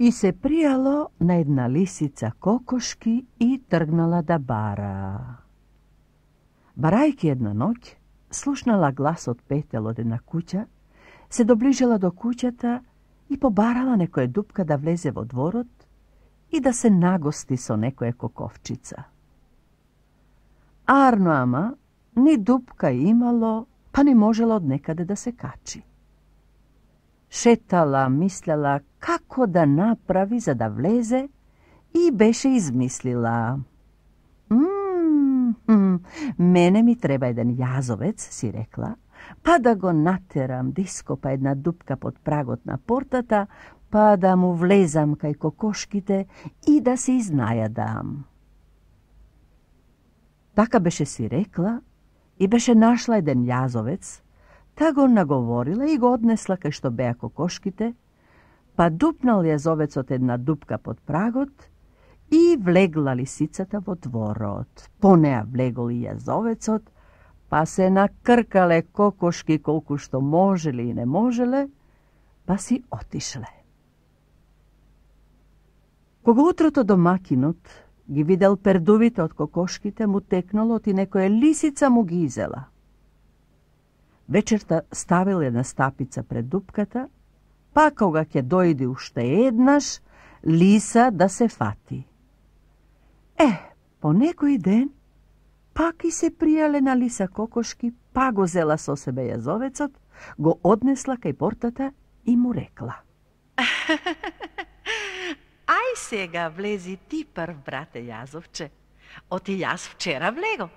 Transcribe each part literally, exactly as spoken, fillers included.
И се пријало на една лисица кокошки и тргнала да бара. Барајки една ноќ, слушнала глас од петел од една куќа, се доближила до куќата и побарала некоја дупка да влезе во дворот и да се нагости со некоја коковчица. Арно ама, ни дупка имало, па не можела од некаде да се качи. Шетала, мислела како да направи за да влезе и беше измислила. Мм, мене ми треба еден јазовец, си рекла, па да го натерам да ископа една дупка под прагот на портата, па да му влезам кај кокошките и да се изнајадам. Така беше си рекла и беше нашла еден јазовец, та го наговорила и го однесла кај што беа кокошките, па дупнал јазовецот една дупка под прагот и влегла лисицата во дворот. По неа влегол и јазовецот, па се накркале кокошки колку што можеле и не можеле, па си отишле. Кога утрото домакинот ги видел пердувите од кокошките, му текнало и некоја лисица му ги изела. Вечерта ставил една стапица пред дупката, па кога ќе дојде уште еднаш, лиса да се фати. Е, по некој ден, пак и се пријале на лиса кокошки, па го зела со себе јазовецот, го однесла кај портата и му рекла. Ај сега влези ти прв, брате јазовче. Оти јас вчера влего.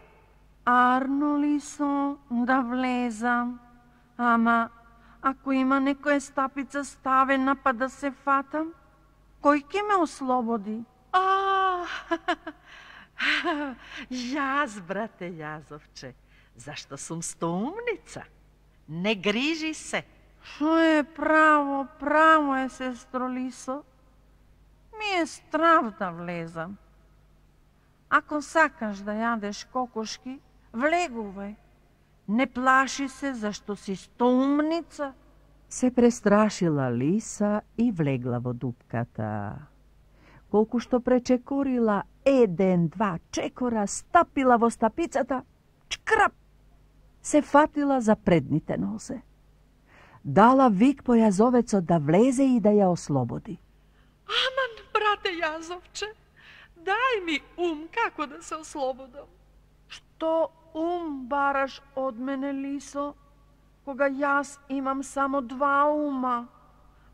Арно лисо, да влезам. Ама, ако има некоја стапица ставена па да се фатам, кој ќе ме ослободи? А, јас, брате јазовче, зашто сум стоумница. Не грижи се. Шо е право, право е, сестро лисо. Ми е страв да влезам. Ако сакаш да јадеш кокошки, влегувај. Не плаши се зашто си стоумница. Се престрашила лиса и влегла во дупката. Колку што пречекорила еден, два чекора, стапила во стапицата, чкрап, се фатила за предните нозе. Дала вик по јазовецот да влезе и да ја ослободи. Аман, брате јазовче, дај ми ум како да се ослободам. Што ум бараш од мене, лисо, кога јас имам само два ума,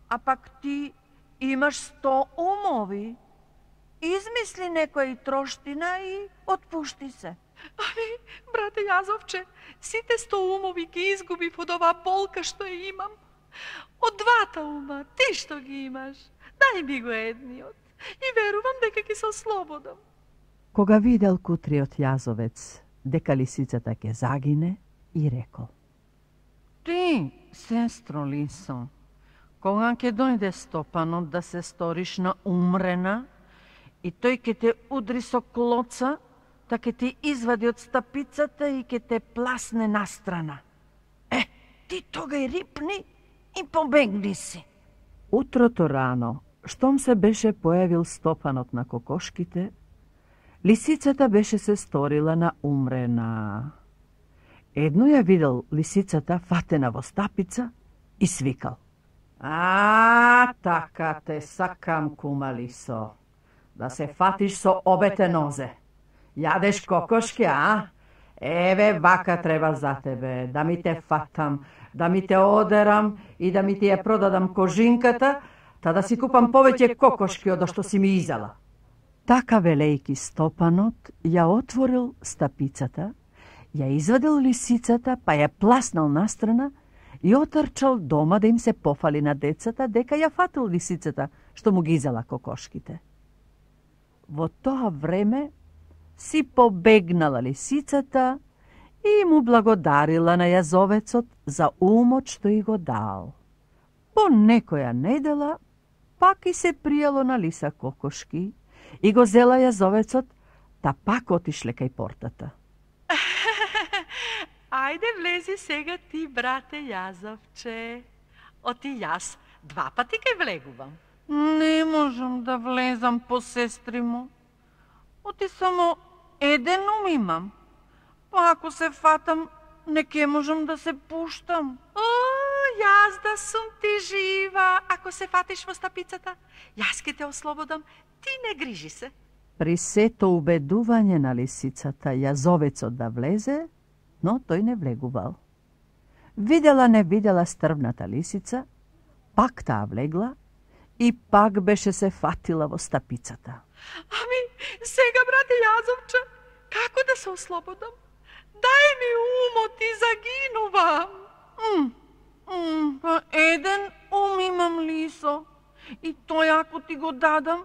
а пак ти имаш сто умови? Измисли некоја троштина и отпушти се. Ами, брате јазовче, сите сто умови ги изгубив од оваа болка што ја имам. Од двата ума, ти што ги имаш, дај ми го едниот и верувам дека ќе се ослободам. Кога видел кутриот јазовец дека лисицата ќе загине, и рекол. Ти, сестро лисо, кога ќе дојде Стопанот да се сториш на умрена и тој ќе те удри со клоца, та ќе те извади од стапицата и ќе те пласне настрана. Е, ти тогај рипни и побегни си. Утрото рано, штом се беше појавил Стопанот на кокошките, лисицата беше се сторила на умрена. Едно ја видел лисицата фатена во стапица и свикал. А, така те сакам, кума лисо, да се фатиш со обете нозе. Јадеш кокошки, а? Еве, вака треба за тебе, да ми те фатам, да ми те одерам и да ми ти ја продадам кожинката, та да си купам повеќе кокошки од што си ми изела. Така велејки Стопанот ја отворил стапицата, ја извадил лисицата, па ја пласнал настрана и отрчал дома да им се пофали на децата дека ја фатил лисицата што му ги изела кокошките. Во тоа време си побегнала лисицата и му благодарила на јазовецот за умот што и го дал. По некоја недела пак и се пријало на лиса кокошки и го зела јазовецот, та пак отишле кај портата. Ајде влези сега ти, брате јазовче. Оти јас два пати ке влегувам. Не можам да влезам по сестри му. Оти само еден ум имам. Па ако се фатам, не ке можам да се пуштам. О, јас да сум ти жива, ако се фатиш во стапицата. Јас ке те ослободам, ти не грижи се. При сето убедување на лисицата јазовецот да влезе, но тој не влегувал. Видела не видела стрвната лисица, пак таа влегла и пак беше се фатила во стапицата. Ами, сега, брате Јазовче, како да се ослободам? Дај ми умот и загинувам. М, м, па еден ум имам, Лисо, и тој ако ти го дадам,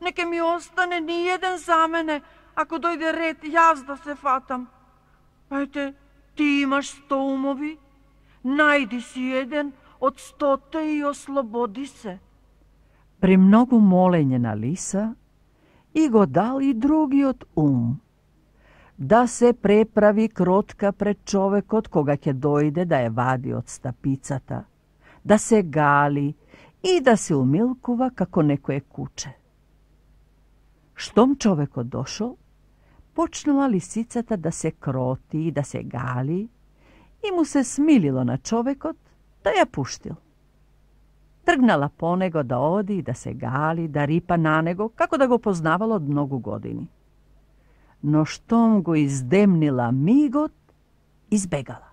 неке ми остане ни еден за мене, ако дојде ред јас да се фатам. Ете, ти имаш сто умови, најди си еден од стота и ослободи се. При многу молење на Лиса, и го дал и другиот ум, да се преправи кротка пред човекот кога ќе дојде да ја вади од стапицата, да се гали и да се умилкува како некое куче. Штом човекот дошол, почнала лисицата да се кроти и да се гали и му се смилило на човекот да ја пуштил. Тргнала по него да оди и да се гали, да рипа на него, како да го познавала од многу години. Но штом го издемнила мигот, избегала.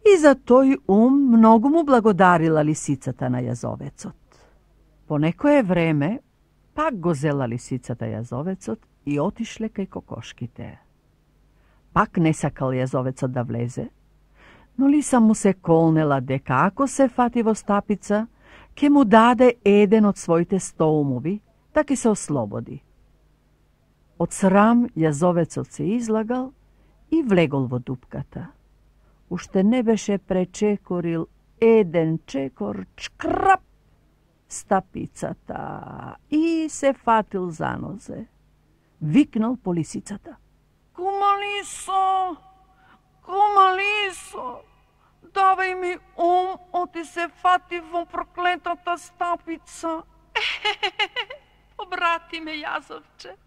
И за тој ум многу му благодарила лисицата на јазовецот. По некое време, пак го зела лисицата јазовецот и отишле кај кокошките. Пак не сакал јазовецот да влезе, но Лиса му се колнела дека ако се фати во стапица, ќе му даде еден од своите сто умови, да ќе се ослободи. Од срам јазовецот се излагал и влегол во дупката. Уште не беше пречекорил еден чекор, чкрап, стапицата и се фатил за нозе. Викнал по лисицата. Кума Лисо, кума Лисо, давај ми ум, оти се фати во проклетата стапица. Обрати ме, Јазовче,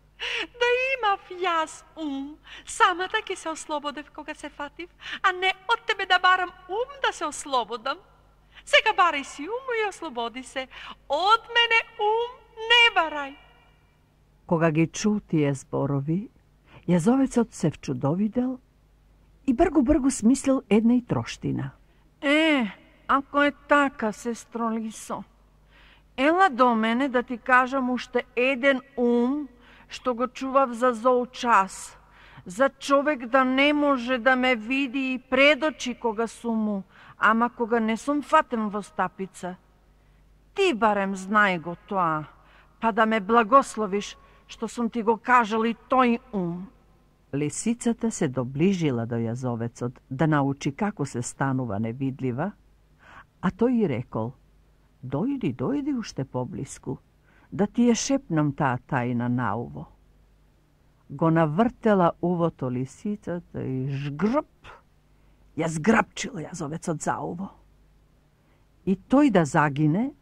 да имав јас ум, самата ќе се ослободев кога се фатив, а не од тебе да барам ум да се ослободам. Сега барај си ум и ослободи се. Од мене ум не барај. Кога ги чу тие зборови, јазовецот се вчудовидел и бргу-бргу смислил една и троштина. Е, ако е така, сестро Лисо, ела до мене да ти кажам уште еден ум, што го чував за зол час, за човек да не може да ме види и предочи кога сум му, ама кога не сум фатен во стапица. Ти барем знај го тоа, па да ме благословиш што сум ти го кажал и тој ум. Лисицата се доближила до јазовецот да научи како се станува невидлива, а тој и рекол: дојди, дојди уште поблиску, да ти ја шепнам таа тајна на уво. Го навртела увото лисицата и жгрп, ја зграпчил јазовецот за уво. И тој да загине,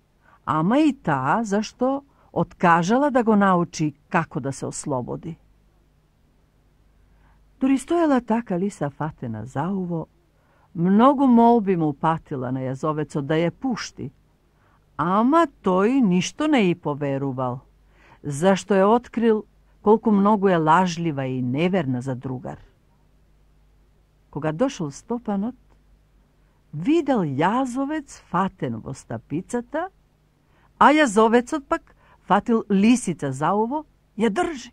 ама и таа зашто откажала да го научи како да се ослободи. Дори стоела така Лиса фатена за уво, многу молби му патила на јазовецот да ја пушти, ама тој ништо не и поверувал, зашто е открил колку многу е лажлива и неверна за другар. Кога дошол Стопанот, видел јазовец фатен во стапицата, а јазовецот пак фатил лисица за уво, ја држи.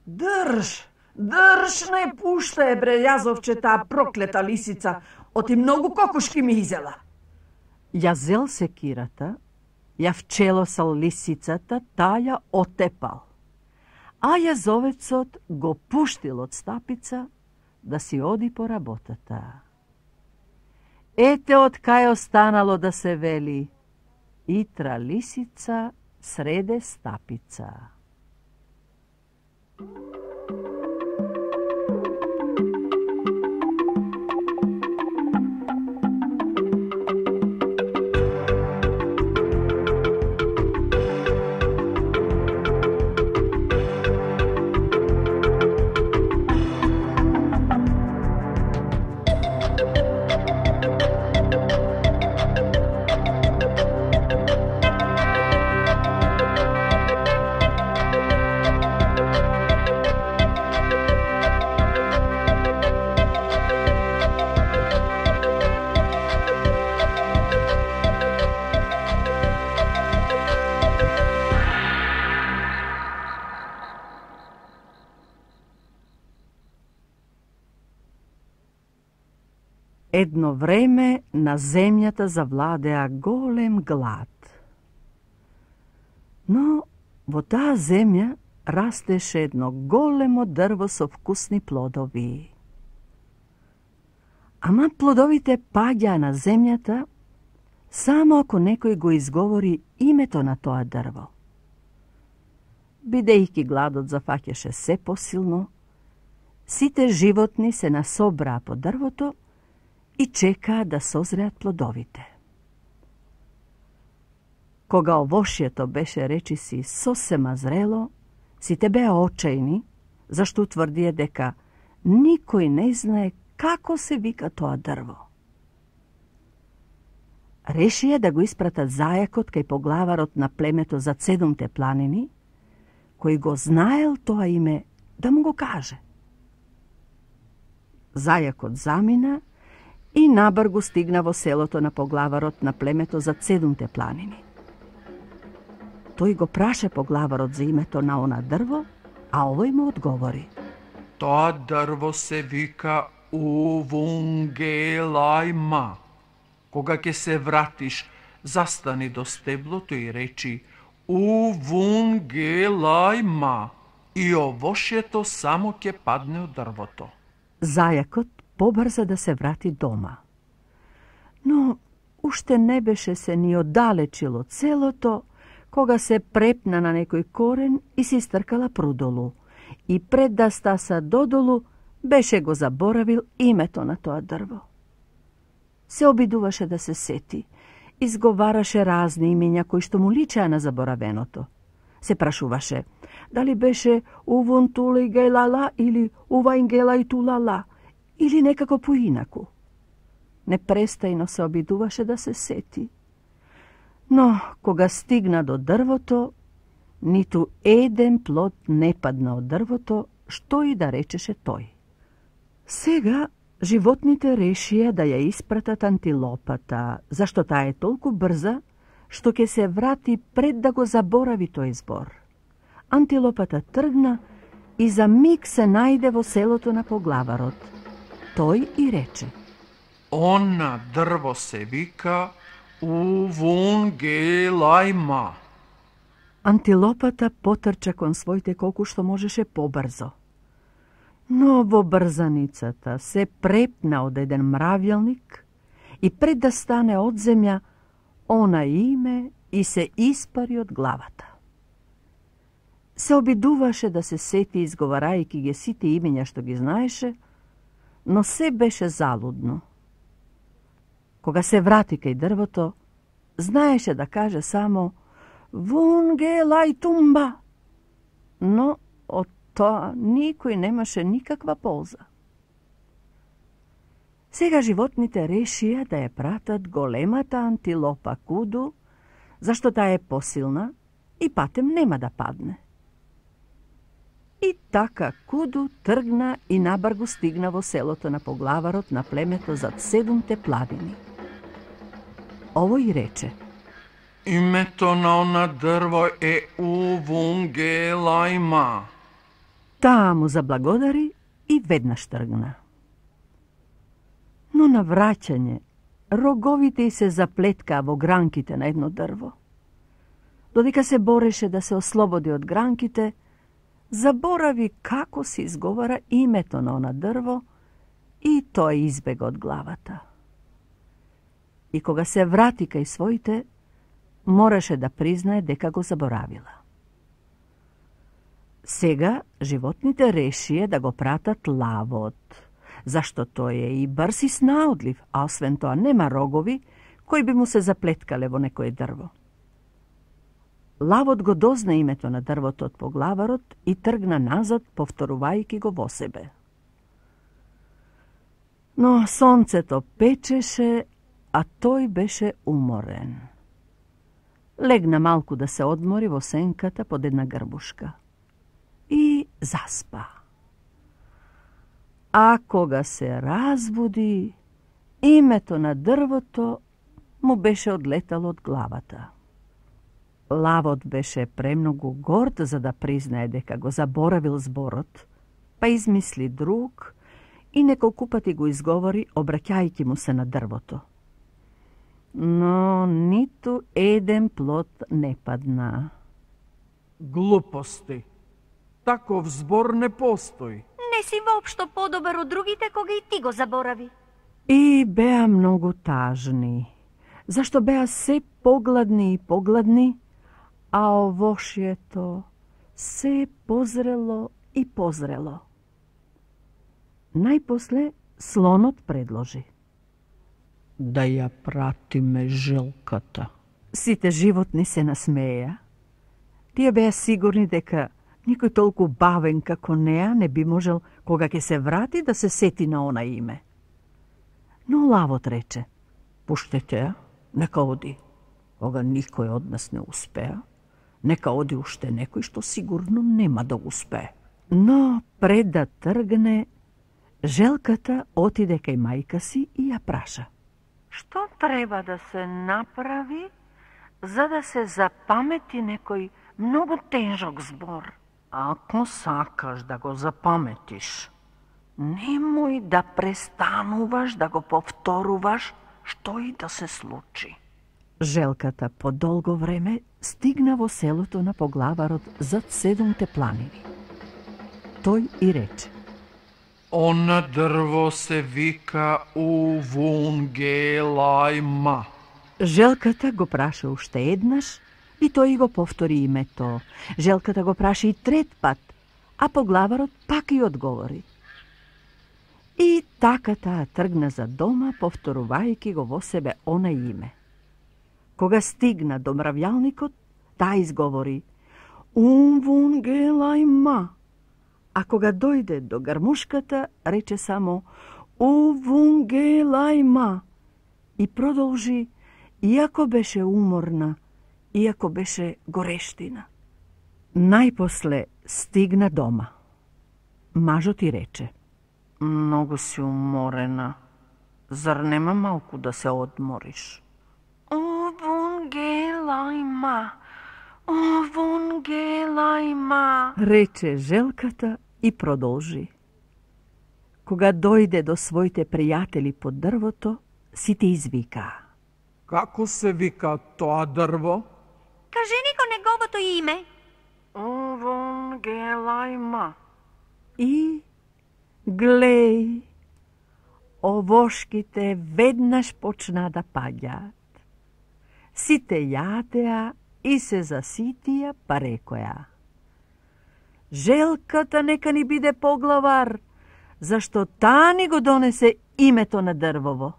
Држ, држ, не пушта е, бре, јазовче, таа проклета лисица, оти многу кокошки ми изела. Ја зел секирата, ја вчелосал лисицата, таа ја отепал, а јазовецот го пуштил од стапица да си оди по работата. Ете од кај останало да се вели: итра лисица среде стапица. Едно време на земјата завладеа голем глад. Но во таа земја растеше едно големо дрво со вкусни плодови. Ама плодовите паѓаа на земјата само ако некој го изговори името на тоа дрво. Бидејќи гладот зафаќаше се посилно, сите животни се насобраа по дрвото и чекаа да созреат плодовите. Кога овошјето беше речиси сосема зрело, сите беа очајни, зашто утврдија дека никој не знае како се вика тоа дрво. Решија да го испратат зајакот кај поглаварот на племето зад седумте планини, кој го знаел тоа име, да му го каже. Зајакот замина и набргу стигна во селото на поглаварот на племето зад седумте планини. Тој го праша поглаварот за името на она дрво, а овој му одговори: Тоа дрво се вика Увунгелајма. Кога ќе се вратиш, застани до стеблото и речи Увунгелајма и овошјето само ќе падне од дрвото. Зајакот побрза да се врати дома. Но уште не беше се ни оддалечило целото, кога се препна на некој корен и си стркала прудолу, и пред да стаса додолу, беше го заборавил името на тоа дрво. Се обидуваше да се сети, изговараше разни имиња кои што му личеа на заборавеното. Се прашуваше дали беше Увунтулигелала или Уваингелајтулала, или некако поинаку. Непрестајно се обидуваше да се сети. Но, кога стигна до дрвото, ниту еден плод не падна од дрвото, што и да речеше тој. Сега животните решија да ја испратат антилопата, зашто таа е толку брза, што ќе се врати пред да го заборави тој збор. Антилопата тргна и за миг се најде во селото на поглаварот. Тој и рече: Она дрво се вика Увунгелајма. Антилопата потрча кон своите колку што можеше побрзо. Но во брзаницата се препна од еден мравјалник и пред да стане од земја, она име и се испари од главата. Се обидуваше да се сети изговарајќи ги сите имиња што ги знаеше, но се беше залудно. Кога се врати кај дрвото, знаеше да каже само Вунгелајтумба, но од тоа никој немаше никаква полза. Сега животните решија да ја пратат големата антилопа Куду, зашто таа е посилна и патем нема да падне. И така Куду тргна и набргу стигна во селото на поглаварот на племето зад седумте планини. Овој рече: Името на она дрво е Увунгелајма. Таа му заблагодари и веднаш тргна. Но на враќање, роговите й се заплеткаа во гранките на едно дрво. Додека се бореше да се ослободи од гранките, заборави како се изговара името на она дрво и тоа избега од главата. И кога се врати кај своите, мораше да признае дека го заборавила. Сега животните решија да го пратат лавот, зашто тој е и брз и снаодлив, а освен тоа нема рогови кои би му се заплеткале во некое дрво. Лавот го дозна името на дрвото од поглаварот и тргна назад, повторувајќи го во себе. Но сонцето печеше, а тој беше уморен. Легна малку да се одмори во сенката под една грбушка. И заспа. А кога се разбуди, името на дрвото му беше одлетало од главата. Лавот беше премногу горд за да признае дека го заборавил зборот, па измисли друг и неколку пати го изговори, обраќајќи му се на дрвото. Но ниту еден плод не падна. Глупости. Таков збор не постои. Не си воопшто подобар од другите кога и ти го заборави. И беа многу тажни, зашто беа се погладни и погладни, а овошјето се позрело и позрело. Најпосле слонот предложи: да ја пратиме желката. Сите животни се насмеја. Тие беа сигурни дека никој толку бавен како неа не би можел, кога ќе се врати, да се сети на она име. Но лавот рече: пуштете ја, нека оди. Кога никој од нас не успеа, нека оди уште некој што сигурно нема да успее. Но пред да тргне, желката отиде кај мајка си и ја праша: Што треба да се направи за да се запамети некој многу тежок збор? Ако сакаш да го запаметиш, немој да престануваш да го повторуваш, што и да се случи. Желката по долго време стигна во селото на поглаварот зад седумте планини. Тој и рече: Она дрво се вика Увунгелајма. Желката го праша уште еднаш и тој го повтори името. Желката го праша и трет пат, а поглаварот пак и одговори. И така таа тргна за дома, повторувајќи го во себе она име. Кога стигна до мравјалникот, таа изговори Увунгелајма. А кога дојде до гармушката, рече само Увунгелајма и продолжи, иако беше уморна, иако беше горештина. Најпосле стигна дома. Мажот и рече: Многу си уморена. Зар нема малку да се одмориш? Увунгелајма, Увунгелајма, рече желката и продолжи. Кога дојде до своите пријатели под дрвото, сите извика: Како се вика тоа дрво? Кажи ни го неговото име. Увунгелајма. И глеј, овошките веднаш почна да паѓаат. Сите јадеа и се заситија, па рекоја: Желката нека ни биде поглавар, зашто таа ни го донесе името на дрвово.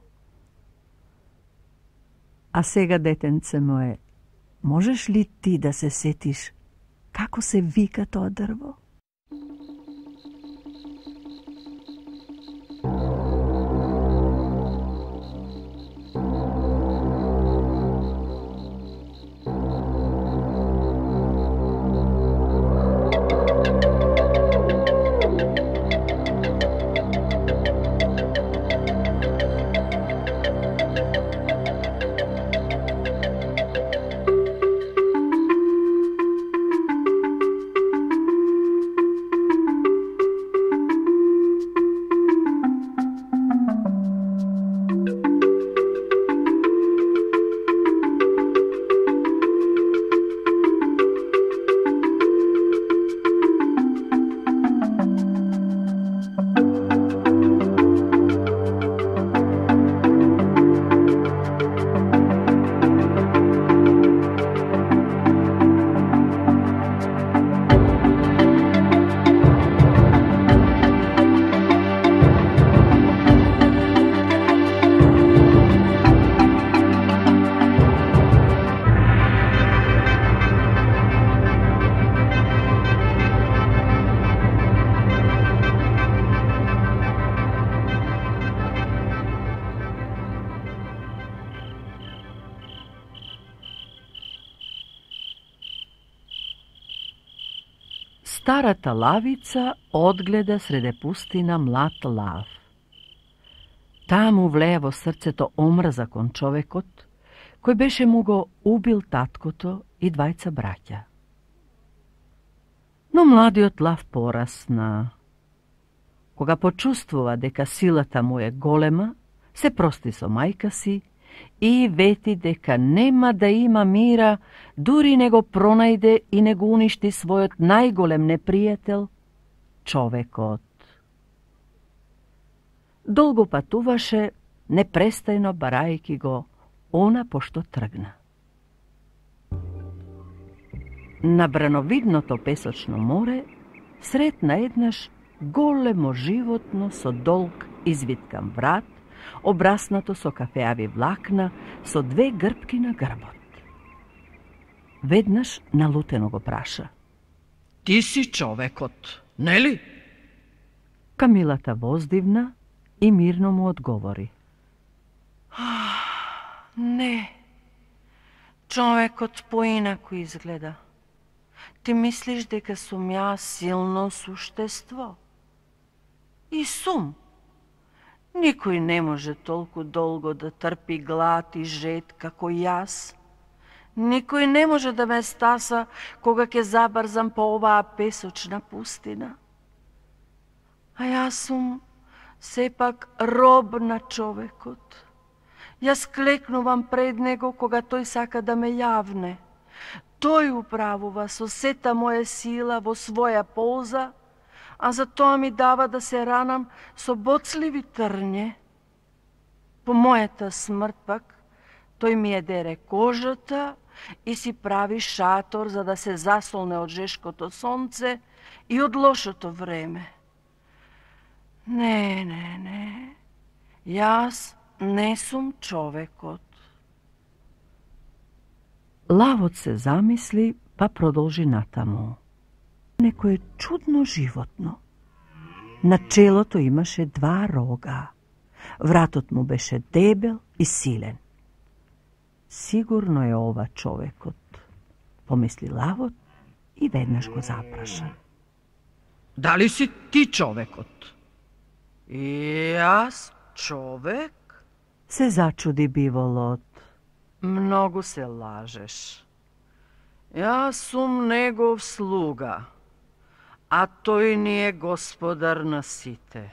А сега, детенце мое, можеш ли ти да се сетиш како се вика тоа дрво? Старата лавица одгледа среде пустина млад лав. Таа му влеја во срцето омрза кон човекот, кој беше му го убил таткото и двајца браќа. Но младиот лав порасна. Кога почувствува дека силата му е голема, се прости со мајка си и вети дека нема да има мира, дури не го пронајде и не го уништи својот најголем непријател, човекот. Долго патуваше, непрестајно барајки го, она пошто тргна. На брановидното песочно море сретна еднаш големо животно со долг извиткан врат, обраснато со кафеави влакна, со две грбки на грбот. Веднаш налутено го праша: Ти си човекот, нели? Камилата воздивна и мирно му одговори: Не, човекот поинаку изгледа. Ти мислиш дека сум ја силно суштество? И сум. Никој не може толку долго да трпи глад и жед како јас. Никој не може да ме стаса кога ќе забрзам по оваа песочна пустина. А јас сум сепак роб на човекот. Јас клекнувам пред него кога тој сака да ме јавне. Тој управува со сета моја сила во своја полза, а за тоа ми дава да се ранам со боцливи трње. По мојата смрт пак, тој ми е дере кожата и си прави шатор за да се засолне од жешкото сонце и од лошото време. Не, не, не, јас не сум човекот. Лавот се замисли, па продолжи натаму. Некое чудно животно. На челото имаше два рога. Вратот му беше дебел и силен. Сигурно е ова човекот, помисли лавот и веднаш го запраша. Дали си ти човекот? И јас човек? Се зачуди биволот. Многу се лажеш. Јас сум негов слуга, а тој ни е господар на сите.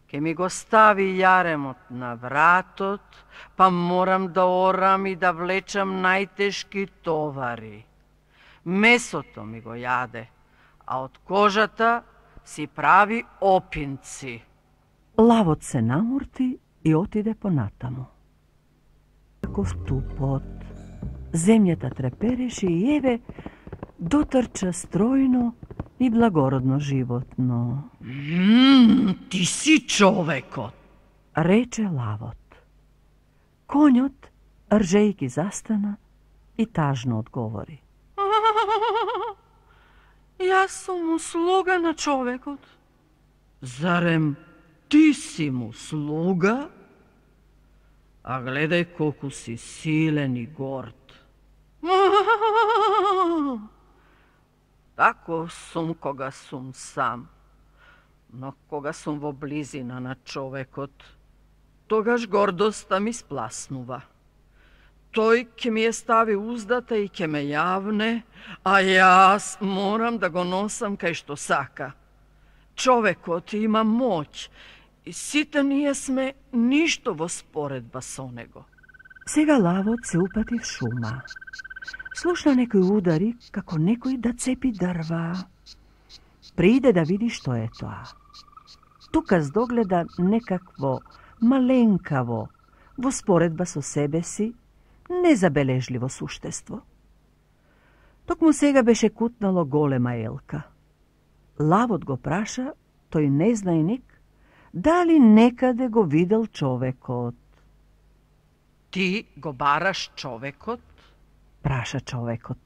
Ке ми го стави јаремот на вратот, па морам да орам и да влечам најтешки товари. Месото ми го јаде, а од кожата си прави опинци. Лавот се намурти и отиде понатаму. Таков тупот, земјата трепереше и еве дотрча стројно и благородно животно. Ммм, ти си човекот, рече лавот. Конјот, ржејки, застана и тажно одговори. Јас сум услуга на човекот. Зарем ти си му слуга? А гледај колку си силен и горд. Тако сум кога сум сам. Но кога сум во близина на човекот, тогаш гордоста ми спласнува. Тој ќе ми ја стави уздата и ќе ме јавне, а јас морам да го носам кај што сака. Човекот има моќ и сите ние сме ништо во споредба со него. Сега лавот се упати в шума. Слушна некои удари како некој да цепи дрва. Прииде да види што е тоа. Тука здогледа некакво маленкаво, во споредба со себе си, незабележливо суштество. Токму сега беше кутнало голема елка. Лавот го праша, тој незнајник, дали некаде го видел човекот. Ти го бараш човекот? Праша човекот.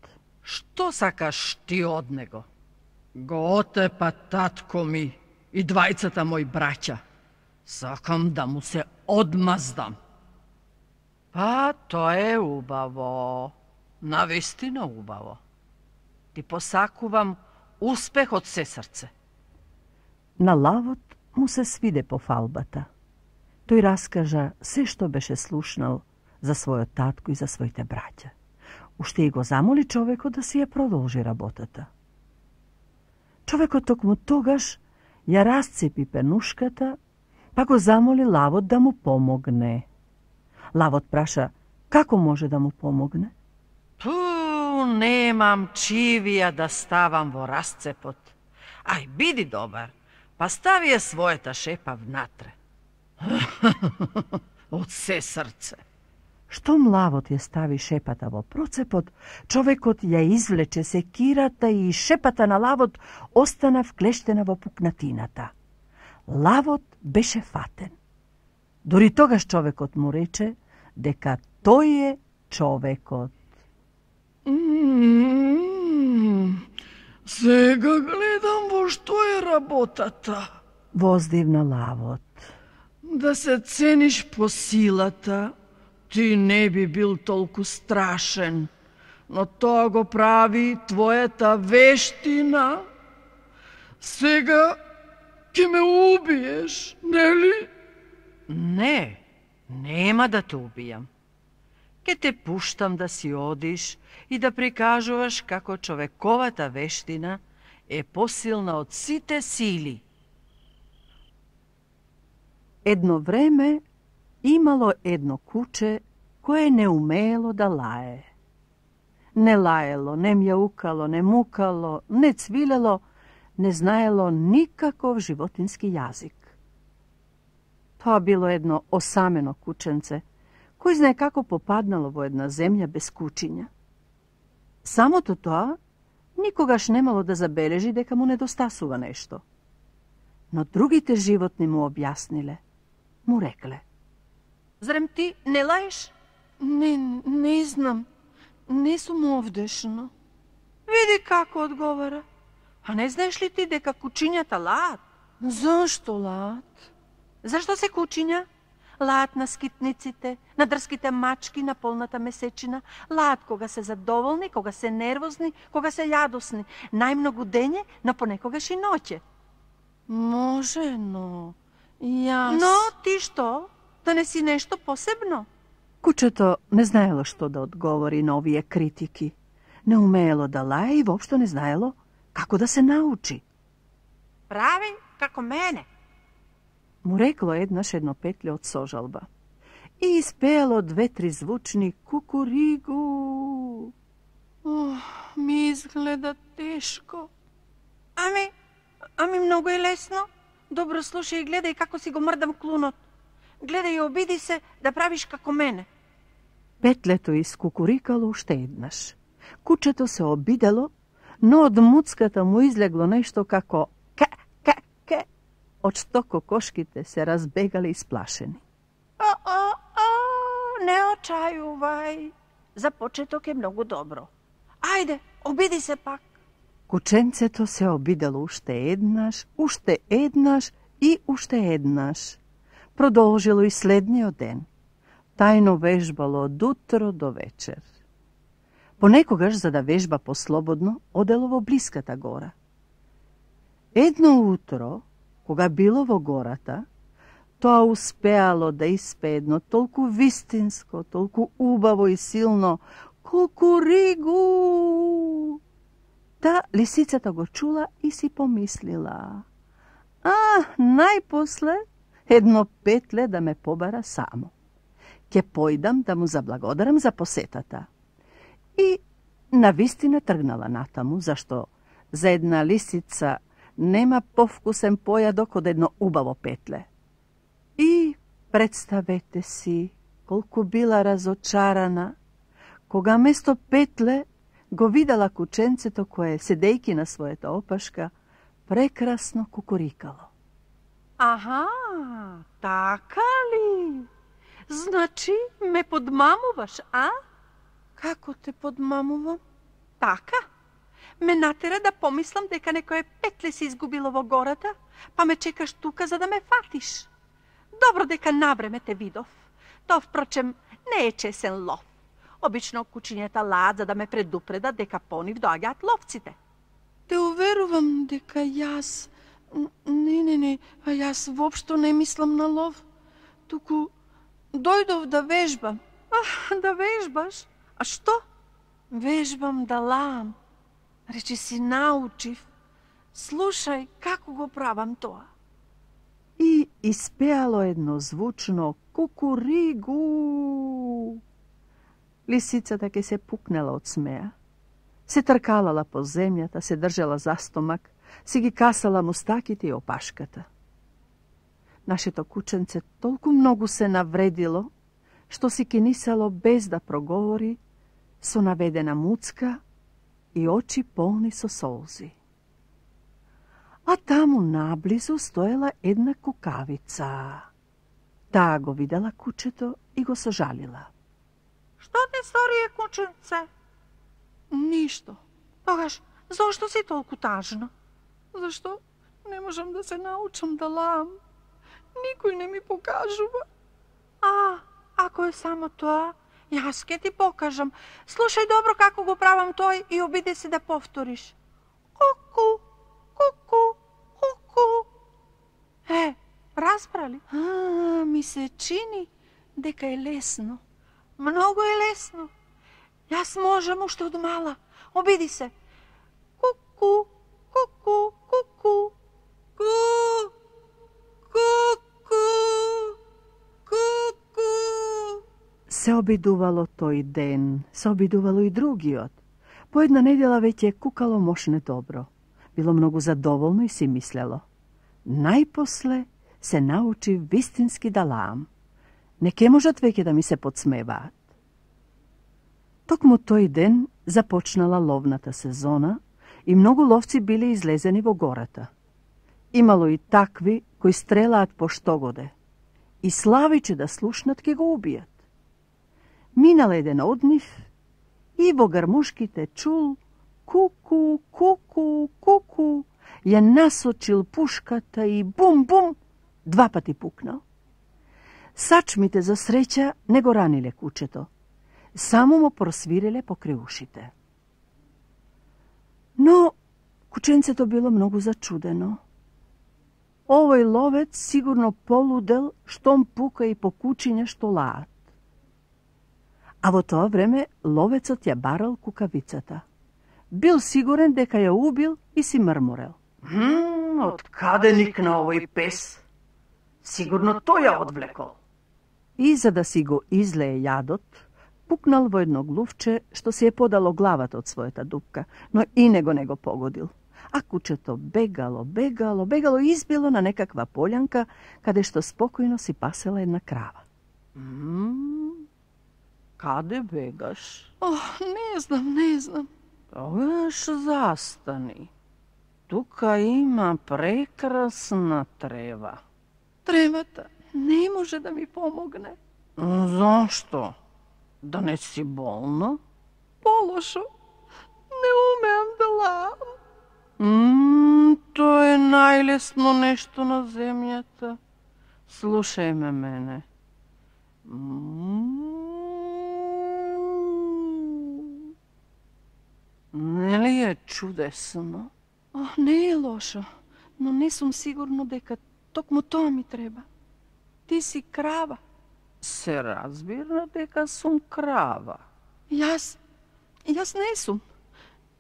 Што сакаш ти од него? Го отепа татко ми и двајцата мои браќа. Сакам да му се одмаздам. Па, тоа е убаво. Навистина убаво. Ти посакувам успех од се срце. На лавот му се свиде пофалбата. Тој раскажа се што беше слушнал за својот татко и за своите браќа. Уште и го замоли човекот да си ја продолжи работата. Човекот токму тогаш ја расцепи пенушката, па го замоли лавот да му помогне. Лавот праша како може да му помогне. Ту, немам чивија да ставам во расцепот. Ај, биди добар, па стави ја својата шепа внатре. Од се срце. Штом лавот ја стави шепата во процепот, човекот ја извлече секирата и шепата на лавот остана вклештена во пукнатината. Лавот беше фатен. Дори тогаш човекот му рече дека тој е човекот. Mm, сега гледам во што е работата. Воздивна лавот. Да се цениш по силата, ти не би бил толку страшен, но тоа го прави твојата вештина. Сега ќе ме убиеш, нели? Не, нема да те убијам. Ке те пуштам да си одиш и да прикажуваш како човековата вештина е посилна од сите сили. Едно време имало едно куче кое не умеело да лае. Не лаело, не мјаукало, не мукало, не цвилело, не знаело никаков животински јазик. Тоа било едно осамено кученце, кој знае како попаднало во една земја без кучиња. Самото тоа никогаш немало да забележи дека му недостасува нешто. Но другите животни му објасниле, му рекле: Зарем ти не лаеш? Не, не знам. Не сум овдешно. Види како одговара. А не знаеш ли ти дека кучињата лаат? Зашто лаат? Зашто се кучиња? Лаат на скитниците, на дрските мачки, на полната месечина. Лаат кога се задоволни, кога се нервозни, кога се јадосни. Најмногу дење, но понекогаш и ноќе. Може, но јас... Но ти што? Да не си нешто посебно? Кучето не знаело што да одговори на овие критики. Не умеело да лае и воопшто не знаело како да се научи. Прави како мене. Му рекло еднаш едно петле од сожалба. И испеело две-три звучни кукуригу. Ох, ми изгледа тешко. Ами, ами многу е лесно. Добро слушај и гледај како си го мрдам клунот. Гледај и обиди се да правиш како мене. Петлето искукурикало уште еднаш. Кучето се обидело, но од муцката му излегло нешто како ка-ка-ка, од што кокошките се разбегали исплашени. О-о-о, не очајувај. За почеток е многу добро. Ајде, обиди се пак. Кученцето се обидело уште еднаш, уште еднаш и уште еднаш. Продолжило и следниот ден. Тајно вежбало од утро до вечер. Понекогаш, за да вежба послободно, одело во блиската гора. Едно утро, кога било во гората, тоа успеало да испее едно толку вистинско, толку убаво и силно кукуригу. Та лисицата го чула и си помислила: а, најпосле едно петле да ме побара само. Ке појдам да му заблагодарам за посетата. И навистина тргнала натаму, зашто за една лисица нема повкусен појадок од едно убаво петле. И представете си колку била разочарана, кога место петле го видела кученцето кое, седејки на својата опашка, прекрасно кукурикало. Аха, така ли? Значи ме подмамуваш, а? Како те подмамувам? Така. Ме натера да помислам дека некое петле се изгубило во гората, па ме чекаш тука за да ме фатиш. Добро дека навреме те видов. Тоа, впрочем, не е чесен лов. Обично кучињата лаат за да ме предупредат дека по нив доаѓаат ловците. Те уверувам дека јас... Не, не, не, а јас воопшто не мислам на лов. Туку дојдов да вежбам. А, да вежбаш? А што? Вежбам да лаам. Речи си научив. слушај како го правам тоа. И испеало едно звучно кукуригу. Лисицата ке се пукнела од смеа. Се тркалала по земјата, се држала за стомак, си ги касала мустаките и опашката. Нашето кученце толку многу се навредило, што си кинисало без да проговори, со наведена муцка и очи полни со солзи. А таму наблизу стоела една кукавица. Таа го видела кучето и го сожалила. Што ти стори, кученце? Ништо. Тогаш, зошто си толку тажна? Зашто не можам да се научам да лаам? Никој не ми покажува. А, ако е само тоа, јас ке ти покажам. Слушај добро како го правам тој и обиди се да повториш. Ку-ку, ку-ку, ку-ку. Е, разбрали? А, ми се чини дека е лесно. Многу е лесно. Јас можам уште од мала. Обиди се. Ку-ку, ку-ку, ку-ку. Ку, ку-ку, ку-ку. Се обидувало тој ден, се обидувало и другиот. По една недела веќе кукало мошне добро. Било многу задоволно и си мислело. Најпосле се научи вистински да лаам. Не ке можат веќе да ми се подсмеваат. Токму тој ден започнала ловната сезона и многу ловци биле излезени во гората. Имало и такви кои стрелаат по штогоде и славиче да слушнат ке го убијат. Минал еден од нив и во гармушките чул ку-ку, ку-ку, ку-ку, ја насочил пушката и бум-бум, два пати пукнал. Сачмите за среќа не го раниле кучето, само му просвириле покрај ушите. Но кученцето било многу зачудено. Овој ловец сигурно полудел штом пука и по кучиња што лаат. А во тоа време ловецот ја барал кукавицата. Бил сигурен дека ја убил и си мрморел. Хм, од каде никна овој пес? Сигурно тој ја одвлекол. И за да си го излее јадот, пукнал во едно глувче што се е подало главата од својата дупка, но и него не го погодил. А кучето бегало, бегало, бегало и избило на некаква полјанка, каде што спокојно си пасела една крава. Мм, каде бегаш? Ох, не знам, не знам. Тогаш застани. Тука има прекрасна трева. Тревата не може да ми помогне. Зошто? Да не си болна? Полошо, не умеам да лаам. Мм, тоа е најлесно нешто на земјата. Слушај ме мене. Мм. Нели е чудесно? Ох, не е лошо, но не сум сигурно дека токму тоа ми треба. Ти си крава. Се разбира дека сум крава. Јас, јас не сум.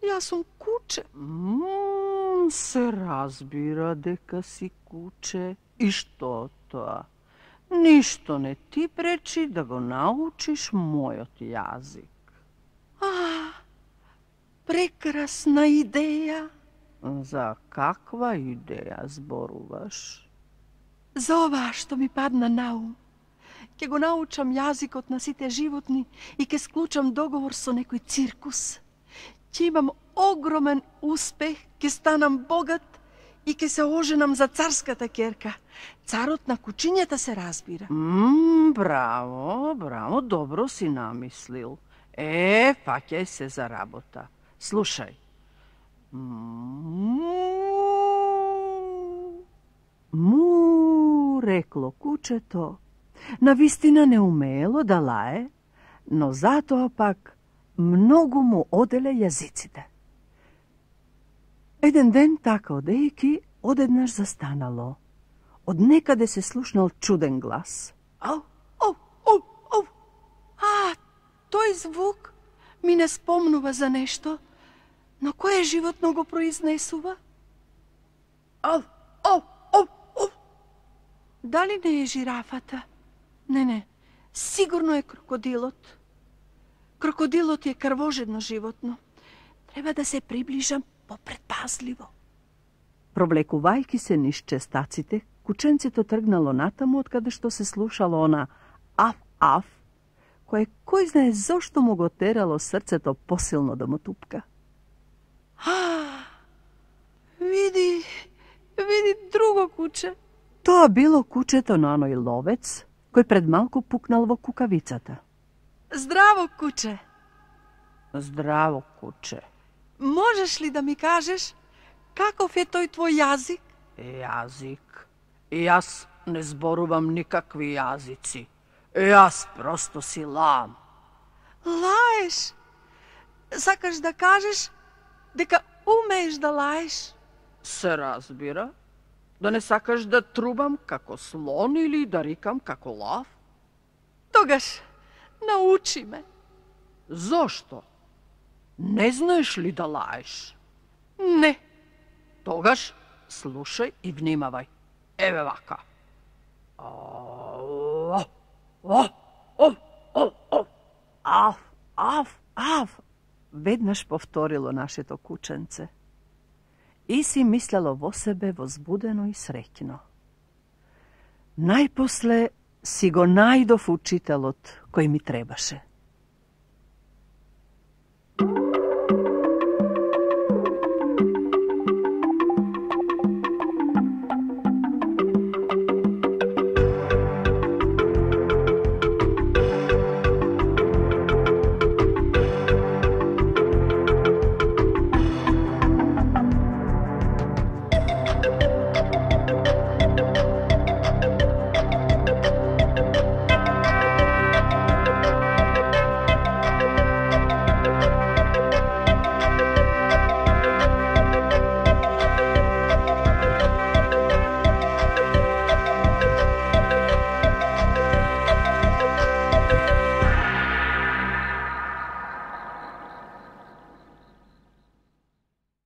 Јас сум куче. Мм, се разбира дека си куче. И што тоа? Ништо не ти пречи да го научиш мојот јазик. А, прекрасна идеја. За каква идеја зборуваш? За ова што ми падна на ум. Ке го научам јазикот на сите животни и ке склучам договор со некој циркус. Ќе имам огромен успех, ке станам богат и ке се оженам за царската ќерка. Царот на кучињата се разбира. Мм, браво, браво, добро си намислил. Е, фаќај се за работа. Слушај. Му, му, рекло кучето. Навистина не умеело да лае, но затоа пак многу му оделе јазиците. Еден ден така одејки, одеднаш застанало. Од некаде се слушнал чуден глас. Ау, ау, ау, ау. А, тој звук ми не спомнува за нешто, но кое животно го произнесува? Ав, ав, ав, ав. Дали не е жирафата? Не, не. Сигурно е крокодилот. Крокодилот е крвожедно животно. Треба да се приближам попредпазливо. Провлекувајќи се низ честаците, кученцето тргнало натаму од каде што се слушало она аф-аф, кое кој знае зошто му го терало срцето посилно да му тупка. А, види, види друго куче. Тоа било кучето на оној ловец, кој пред малку пукнал во кукавицата. Здраво, куче. Здраво, куче. Можеш ли да ми кажеш каков е тој твој јазик? Јазик? Јас не зборувам никакви јазици. Јас просто си лам. Лаеш? Сакаш да кажеш дека умееш да лаеш? Се разбира. Да не сакаш да трубам како слон или да рикам како лав? Тогаш, научи ме. Зошто? Не знаеш ли да лаеш? Не. Тогаш слушај и внимавај. Еве вака. Аф, аф, аф. Веднаш повторило нашето кученце. И си мислело во себе возбудено и среќно. Најпосле си го најдов учителот кој ми требаше.